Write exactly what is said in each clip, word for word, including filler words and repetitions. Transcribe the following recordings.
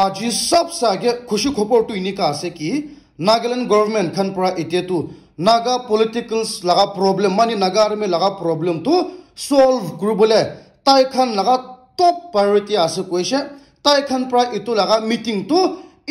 Aji sabse age khushi khobor tu enika ase ki Nagaland government khan para ite tu Naga politicals laga problem, mani Naga army laga problem tu solve kuribole tai khan laga top priority ase koise. Tai khan para itu laga meeting tu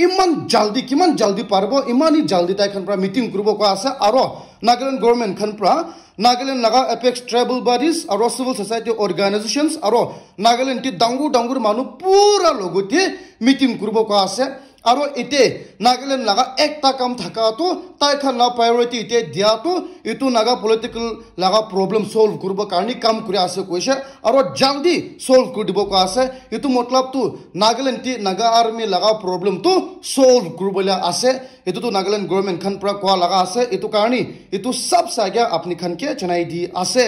iman jaldi, kiman jaldi paribo, iman hi jaldi tai khan para meeting kuribo koa ase. Aro Nagaland government khan para Nagaland laga apex tribal bodies aro civil society organizations aro Nagaland ti dangur dangur manu pura logote meeting kuribo koa ase. Aro ite Nagaland laga ekta kam thaka tu tai khan la priority ite dia tu itu Naga political laga problem solve kuribo karni kam kuri ase koise. Aro jaldi solve kuri dibo koa ase. Itu matlab tu Nagaland ti Naga army laga problem tu solve kuribole ase. Itu tu Nagaland government khan para koa laga ase. Itu karni itu sabse age apni khan ke janai di ase.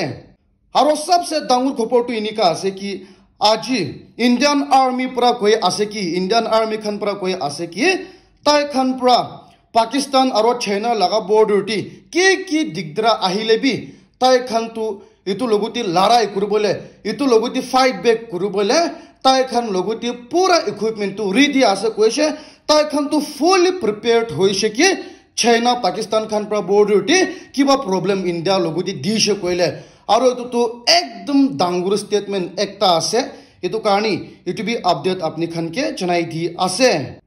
Aro sabse dangur khobor tu enika ase ki aji Indian army para koi ase ki Indian army khan para koi ase ki tai khan para Pakistan aro China laga border ti ki ki digdara ahile bi tai khan tu itu logote larai kuribole, itu logote fight back kuribole tai khan logote pura equipment tu ready ase koise. Tai khan tu fully prepared hoise ki China Pakistan khan para border te kiba problem India logote dise koile. Aro itu tu ekdom dangur statement ekta ase. Itu karni itu bi update apni khan ke janai di ase.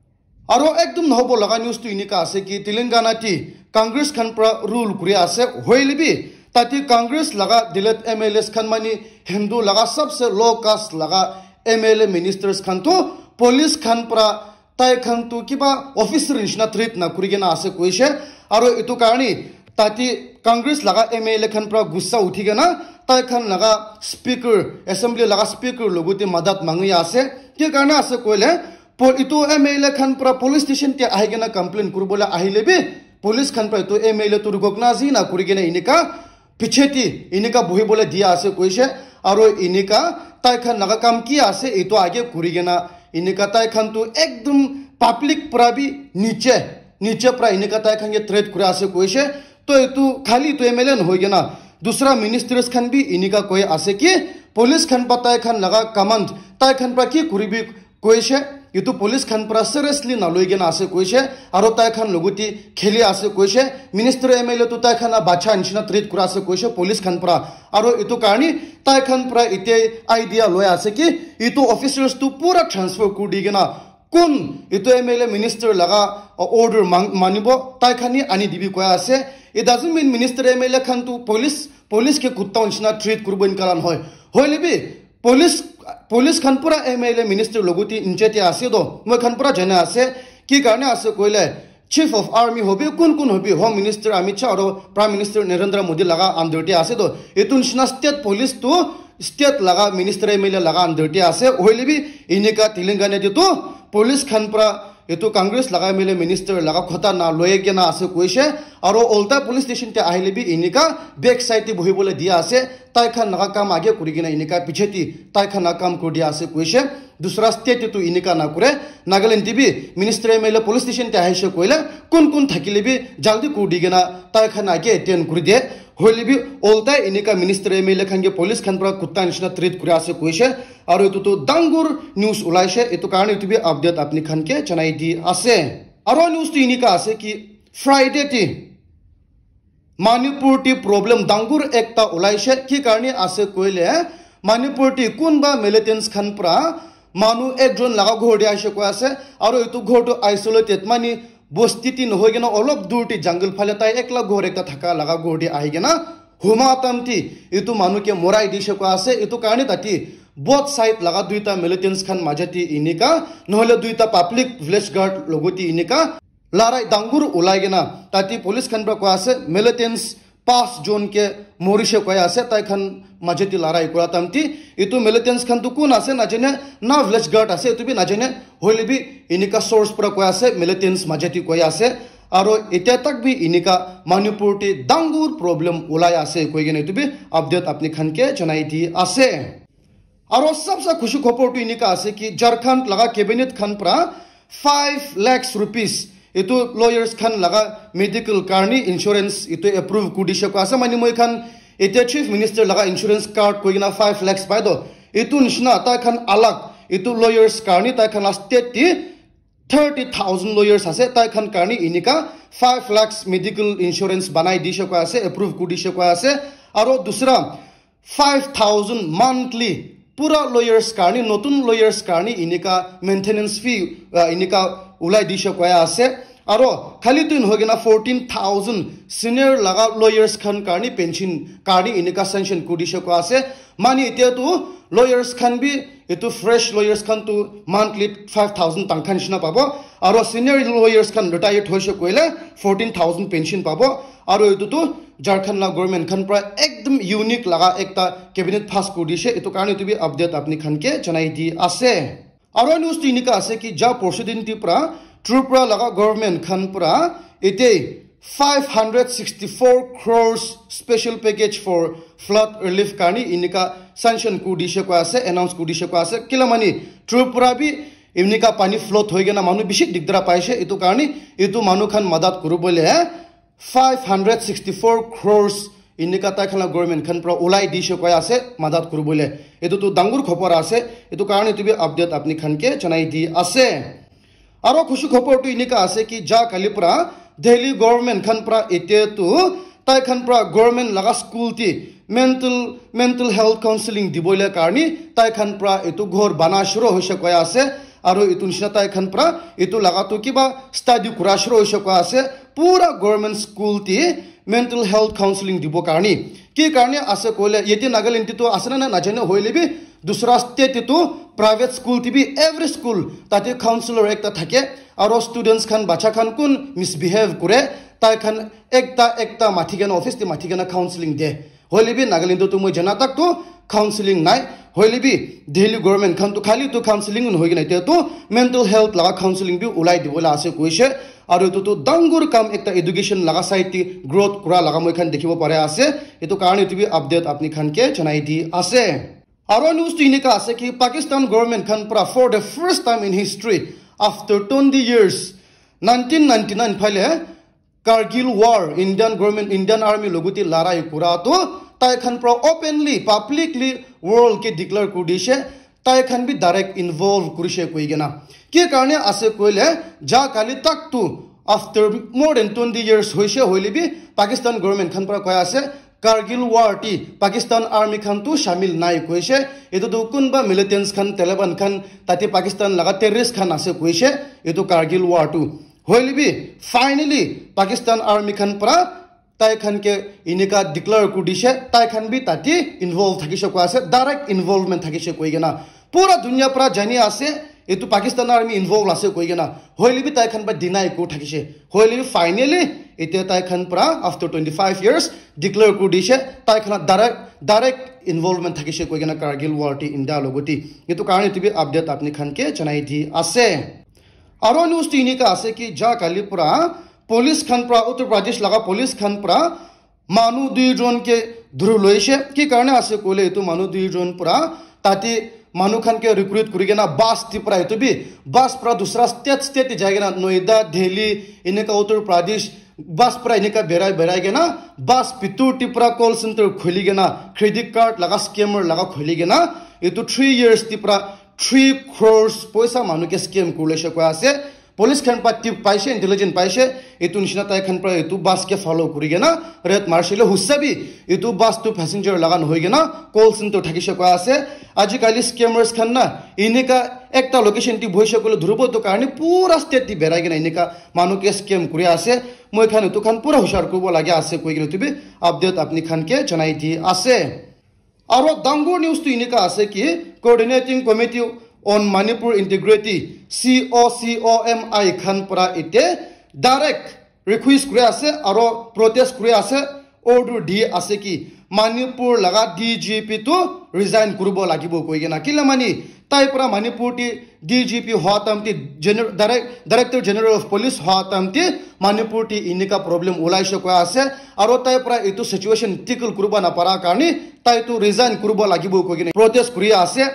Aro ekdom nohobo laga news tu enika ase ki Telangana ti Congress khan para rule kuri ase, hoile bi tate Congress laga delete M L As khan mani Hindu laga sabse low caste laga M L A ministers khan tu police khan para tai khan tu kiba officer nishina treat na kuri kena ase koise. Aro itu karni tate Congress laga M L A khan para gussa uthi kena tai khan laga speaker, assembly laga speaker logote madat mangi ase. Ki karne ase koile Pol-, itu M L A khan para police station te ahi kena complain kuribole ahile bi police khan para itu M L A tu recognize hi na kuri kena enika piche te enika bohibole dia ase koise. Aro enika tai khan laga kam ki ase itu age kuri kena enika tai khan tu ekdom public para bi niche, niche para enika tai khan ke threat kuri ase koise. To itu khali itu M L A nohoi kena dusra ministers khan bi enika koi ase ki police khan pa tai khan laga command tai khan para ki kuribi koise, itu police khan para seriously naloi kena ase koise, aro tai khan logote kheli ase koise, minister M L A tu tai khan la bacha nishina treat kura ase koise police khan para, aro itu karni tai khan para ite idea loi ase ki itu officers tu pura transfer kuri di kena kun itu M L A minister laga order mang-, manibo tai khan hi ani dibi koi ase. It doesn't mean minister M L A khan tu police, police ke kutta nishina treat kuribo inkalan hoi. Hoile bi police, police khan pura M L A minister logote inche te ase to. Moi khan pura jana ase. Ki karne ase koile, chief of army hobi, kun kun hobi, home minister Amit Shah aro prime minister Narendra Modi laga under te ase to. Itu nishina state police tu state laga minister M L A laga under te ase. Hoile bi enika Telangana te tu police khan pura itu Congress laga M L A minister laga khota na loi kena ase koise. Aro ulta police station te ahile bi enika back side te bohibole dia ase. Tai khan laga kam age kuri kena enika piche te tai khan laga kam kuri dia ase koise. Dusra state te tu enika na kure. Nagaland te bi minister M L A police station te ahise koile kun kun thakile bi jaldi kuri di kena tai khan age attend kuri de. Hoile bi ulta enika minister M L A khan ke police khan pura kutta nishina treat kuri ase koise. Aro itu tu dangur news ulaise, itu karne itu bi update apni khan ke janai di ase. Aro news tu enika ase ki Friday te Manipur te problem dangur ekta ulaise, ki karne ase koile Manipur te kunba militants khan pura manu ekjon laga ghor te aise koi ase, aro itu ghor tu isolated mani bosti te nohoi kena olop dur te jungle phale tai ekla ghor ekta thaka laga ghor te ahi kena huma tam te itu manu ke morai dise koi ase. Itu karne tate both side laga duita militants khan maja te enika nohole duita public village guard logote enika larai dangur ulai kena tate police khan pura koi ase militants pas jon ke morise koi ase tai khan maja te larai kura tam te. Itu militants khan tu kun ase najane, na village guard ase itu bi najane, hoile bi enika source pura koi ase militants maja te koi ase. Aro itya tak bi enika Manipur te dangur problem ulai ase koi kena itu bi update apni khan ke janai di ase. Aro sabse khushi khobor tu enika ase ki Jharkhand laga cabinet khan pura five lakhs rupees itu lawyers khan laga medical karni insurance itu approve kuri dise koi ase. Mane moi khan itya chief minister laga insurance card koi kena five lakhs pai to. Itu nishina tai khan alag itu lawyers karni tai khan la state te thirty thousand lawyers ase, tai khan karni inika five lakhs medical insurance banai dishe koi ase, approve kuri dishe koi ase. Aro dusra five thousand monthly pura lawyers karni, notun lawyers karni inika maintenance fee, uh, inika ulai dishe koi ase. Aro khali tu nohoi kena fourteen thousand senior laga lawyers khan karni pension karni inika sanction kuri dishe koi ase. Mani etia tu lawyers khan bi, etu fresh lawyers khan tu monthly five thousand tangkha nishina pabo. Aro senior lawyers khan retired hoise koile fourteen thousand pension pabo. Aro etu tu Jharkhand la government khan pra ekdam unique laga ekta cabinet pass kuri dishe. Etu karni etu bi update apni khan ke janai di ase. Aro news tu inika ase ki ja porsidin ti pra Tripura laga government khan pra ete five hundred sixty-four crores special package for flood relief karni inika sanction kuri dishe koi ase, announce kuri dishe koi ase. Kila mani Tripura bi inika pani flood hoi kena manu bishi digdara paise. Etu karni etu manu khan madat kuri bole five hundred sixty-four crores inika tai khan la government khan pra ulai dishe koi ase madat kuri bole. Etu tu dangur khobor ase. Etu karni etu bi update apni khan ke janai di ase. Aro khushi khobor tu inika ase ki ja kali pra Delhi government khan pra ete tu tai khan pra government laga school ti mental, mental health counseling dibole karni tai khan pra etu ghor bana shuru hoise koi ase. Aro etu nishina tai khan pra etu laga tu kiba study kura shuru hoise koi ase. Pura government school ti mental health counseling dibo karni. Ki karni ase koile yete Nagaland ti tu ase na na najane hoile bi dusra state ti tu private school ti bi every school tate counselor ekta thake. Aro students khan, bacha khan kun misbehave kure, tai khan ekta ekta mathi kena office ti mathi kena counseling de. Hoile bi Nagaland tu moi jana tak tu counseling nai. Hoile bi Delhi government khan tu khali tu counseling nohoi kena etia tu mental health laga counseling bi ulai dibole ase koise. Aru etu tu dangur kam ekta education laga side te growth kura laga moi khan dikhibo pare ase. Etu karni etu bi update apni khan ke janai di ase. Aru news tu enika ase ki Pakistan government khan pra for the first time in history after twenty years, nineteen ninety-nine phale Kargil War, Indian government, Indian army logote larai kura tu tai khan pra openly, publicly world ke declare kuri dishe, tai khan bi direct involve kurishe koi kena. Ki karne ase koile, ja kali tak tu after more than twenty years hoise hoile bi Pakistan government khan pra koi ase, Kargil War ti Pakistan army khan tu shamil nai koise. Etu tu kunba militants khan, Taliban khan, tate Pakistan laga terrorist khan ase koise. Etu Kargil War tu hoile bi finally Pakistan army khan pra tai khan ke enika declare kuri dishe, tai khan bi tate involve thakishe koi ase, direct involvement thakishe koi kena. Pura dunia pra jani ase, etu Pakistan army involve ase koi kena. Hoile bi tai khan pra deny kuri thakishe. Hoile bi finally, etia tai khan pra after twenty-five years declare kuri dishe, tai khan direct, direct involvement thakishe koi kena Kargil War ti India logote. Etu karne etu bi update apni khan ke janai di ase. Aro news tu enika ase ki ja kali pra police khan pra, Uttar Pradesh laga police khan pra manu dui jon ke dhuri loishe. Ki karne ase koile etu manu dui jon pra tate manu khan ke recruit kuri kena bus ti pra, etu bi bus pra dusra state, state te jai kena Noida, Delhi, enika Uttar Pradesh bus pra enika berai berai kena bus bitor ti pra call center khuli kena credit card laga scammer laga khuli kena etu three years ti pra three crores poisa manu ke scam kuri loishe koi ase. Police khan pra tip paishe, intelligence paishe, etu nishina tai khan pra etu bus ke follow kuri kena raid marishe le hoise bi etu bus tu passenger laga nohoi kena call center thakishe koi ase. Ajikali scammers khan na enika ekta location ti bohishe koile dhuribo tu karne pura state ti berai kena enika manu ke scam kuri ase. Moi khan etu khan pura hushar kuribo lage ase koi kena etu bi update apni khan ke janai di ase. Aro dangur news tu enika ase ki Coordinating Committee on Manipur Integrity, C O C O M I khan pra ite direct request kuri ase aro protest kuri ase, order di ase ki Manipur laga D G P tu resign kuribo lagibo koi kena. Kila mani tai pra Manipur ti D G P hoa time ti gener-, direct-, Director General of Police hoa time ti Manipur ti enika problem ulaishe koi ase, aro tai pra etu situation tackle kuribo napara karne tai tu resign kuribo lagibo koi kena protest kuri ase.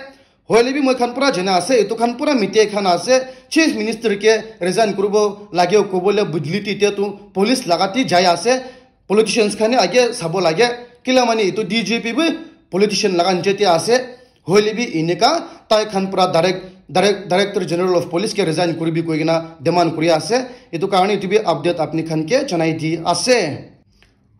Hoile bi moi khan pura jana ase, etu khan pura mite khan ase, Chief Minister ke resign kuribo lage kobole budli ti te tu police laga ti jai ase, politicians khan he age sabo lage, kila mani etu D G P bi politician laga niche te ase. Hoile bi enika tai khan pra direct Direct, Director General of Police ke resign kuribi koi kena demand kuri ase. Etu karne etu bi update apni khan ke janai di ase.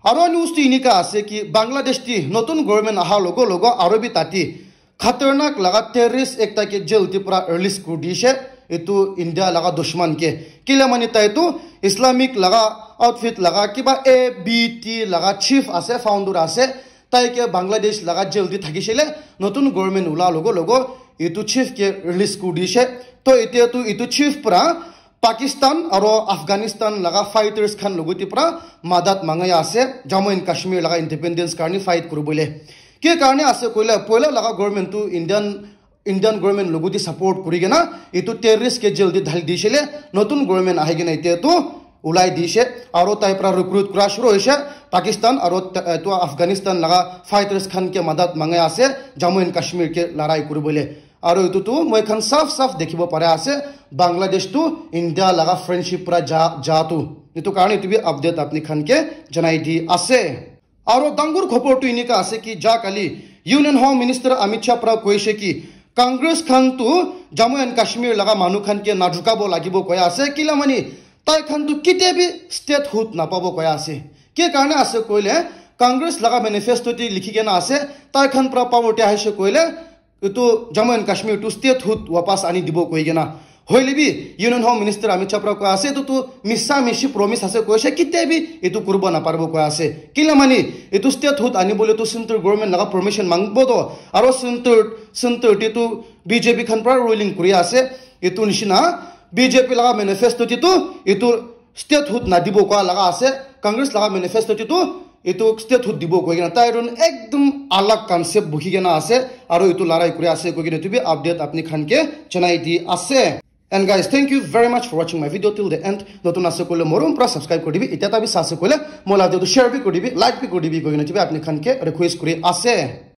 Aro news tu inika ase ki Bangladesh ti notun government aha logo logo aro bi tati khatarnak laga terrorist ekta ke jail ti pura release kuri dishe. Etu India laga dushman ke. Kile mani tai tu Islamic laga outfit laga kiba A B T laga chief ase, founder ase. Tai ke Bangladesh laga jail ti thakishe le notun government ula logo logo etu chief ke release kuri dishe. To etia tu etu chief pura Pakistan aro Afghanistan laga fighters khan logo ti pura madat mangai ase Jammu and Kashmir laga independence karni fight kuribole. Ke karne ase koile poila laga government tu Indian Indian government logo ti support kuri kena etu terrorist ke jail ti dhali dishe le notun government ahi kena etia tu ulai dishe aro tai pura recruit kura shuru hoishe Pakistan aro ta- etu Afghanistan laga fighters khan ke madat mangai ase Jammu and Kashmir ke larai kuribole. Aro etu tu moi khan saf saf dekhibo pare ase Bangladesh tu India laga friendship pura ja ja tu. Etu karne etu bi update apni khan ke janai di ase. Aro dangor khobor tu inika ase ki ja kali Union Home Minister Amit Shah pura koishe ki Congress khan tu Jammu and Kashmir laga manu khan ke nadrukabo lagibo koi ase kila mani tai khan tu kite bi statehood napabo koi ase. Ke karne ase koile Congress laga manifesto ti likhi kena ase tai khan pura power te ahishe koile etu Jammu and Kashmir tu statehood wapas ani dibo koi kena. Hoile bi Union Home Minister Amit Shah pura koi ase etu tu misa mishi promise ase koise kite bi etu kuribo naparibo koi ase. Kila mani etu statehood ani bole tu central government laga permission mangbo to aro central central te tu B J P khan pura ruling kuri ase. Etu nishina B J P laga manifesto te tu etu statehood nadibo koa laga ase. Congress laga manifesto te tu etu statehood dibo koi kena tai ron ekdum alag concept bukhi kena ase aro etu larai kuri ase koi kena etu bi update apni khan ke janai di ase. And guys, thank you very much for watching my video till the end. Notun ase koile morom pura subscribe kuri dibi. Itya tabi sa ase koile mola video share bi kuri dibi, like bi kuri dibi koi kena etu bi apni khan ke request kuri ase.